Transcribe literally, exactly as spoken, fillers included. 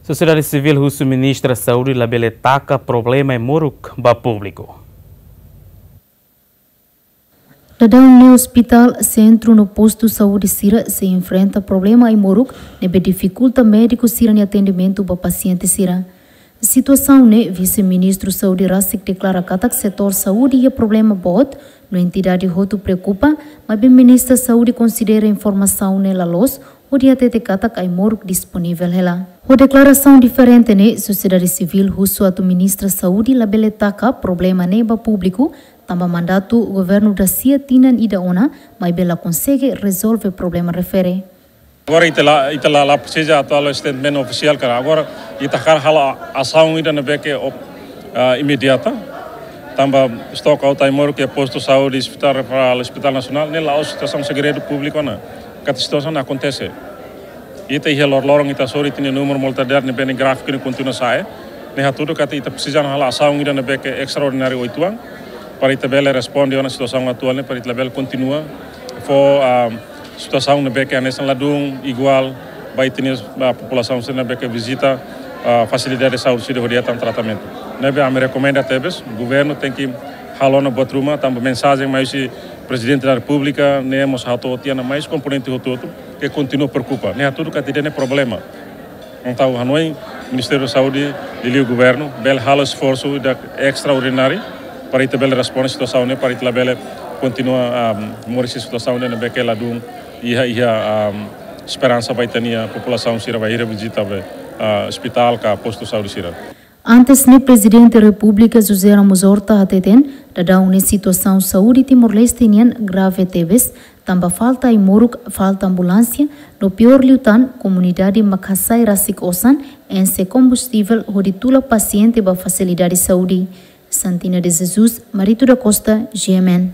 Sosiedade Sivíl husu Ministra Saúde labele taka problema ai-moruk ba públiku. Daudaun ne'e ospitál, sentru no postu saúde sira sei enfrenta problema ai-moruk ne'ebé difikulta médiku sira-nia atendimentu ba pasiente sira. Situasaun ne'e Vise-Ministru Saúde rasik deklara katak setór saúde iha problema boot, no entidade hotu preokupa, maibé Ministra Saúde konsidera informasaun ne'e la loos, hodi hatete katak ai-moruk disponivel hela. Ho deklarasaun diferente ne'e, sosiedade sivíl husu atu Ministra Saúde labele taka problema ne'e ba públiku, tanba mandatu governu da sia tinan ida ona, maibé la konsege rezolve problema refere. Agora ita la, ita la, la presiza atu halo statement ofisiál, karik agora ita hakarak halo asaun ida ne'ebé ke op-, ah, imediata. Tanba stok aut ai-moruk iha postu saúde, ospitál referál, ospitál nasionál, ne'e la'ós situasaun segredu públiku ona. Katak situasaun akontese. Ita iha loroloron ita sorin ita-nia númeru mortalidade ne'ebé ne'e gráfiku ne'e kontinua sa'e. Ne'e hatudu katak ita presiza halo asaun ida ne'ebé ke estraordináriu oituan, para ita bele responde ona situasaun atuál ne'e, para ita bele kontinua fó, ah, situasaun ne'ebé ke hanesan ladún iguál ba ita-nia, ah, populasaun sira ne'ebé ke vizita, ah, fasilidade saúde sira hodi hetan tratamentu. Ne'ebé ami rekomenda tebes, governu tenke halo ona buat ruma, tanba mensajen mai husi Prezidente da Repúblika, ne'e mós hato'o tiha ona mai husi komponente hotu-hotu, ke kontinua preokupa. Ne'e hatudu katak ida-ne'e problema. Entaun hanoin Ministériu Saúde, liuliu governu, bele halo esforsu ida estraordináriu para ita bele responde situasaun ne'e, para ita labele kontinua, ah, moris iha situasaun ne'ebé ke ladún iha, iha, ah, esperansa ba ita-nia populasaun sira bainhira vizita ba, ah, ospitál ka postu saúde sira. Antes ne'e Prezidente Repúblika José Ramos Horta hateten, daudaun ne'e situasaun saúde Timor-Leste nian grave tebes, tanba falta ai-moruk, falta ambulánsia, no piór liután, komunidade mak hasai rasik osan, enxe kombustivel hodi tula pasiente ba fasilidade saúde. Santina de Jesus, Marito da Costa, G M N.